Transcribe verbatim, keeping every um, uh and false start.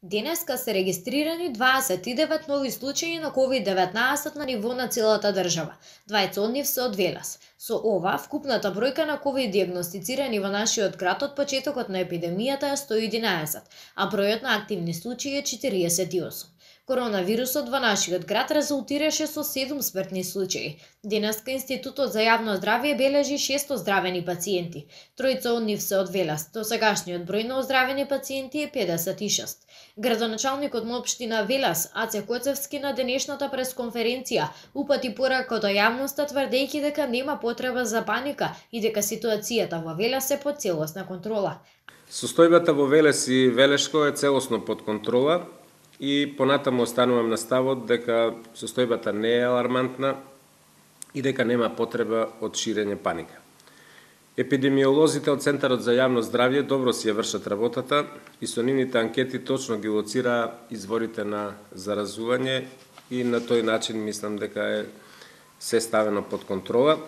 Денеска се регистрирани дваесет и девет нови случаи на ковид деветнаесет на ниво на целата држава. дваесет од нив се од Велес. Со ова, вкупната бројка на ковид диагностицирани во нашиот град од почетокот на епидемијата е сто и единаесет, а бројот на активни случаи е четириесет и осум. Коронавирусот во нашиот град резултираше со седум смртни случаи. Денеска Институтот за јавно здравје бележи шест оздравени пациенти. Тројца од нив се од Велес. Досегашниот број на оздравени пациенти е педесет и шест. Градоначалникот на општина Велес, Аце Коцевски, на денешната пресконференција упати порака до јавноста тврдејќи дека нема потреба за паника и дека ситуацијата во Велес е под целосна контрола. Состојбата во Велес и Велешко е целосно под контрола и понатаму останувам на ставот дека состојбата не е алармантна и дека нема потреба од ширење паника. Епидемиолозите од Центарот за јавно здравје добро си ја вршат работата и со нивните анкети точно ги лоцираа изворите на заразување и на тој начин мислам дека е се ставено под контрола.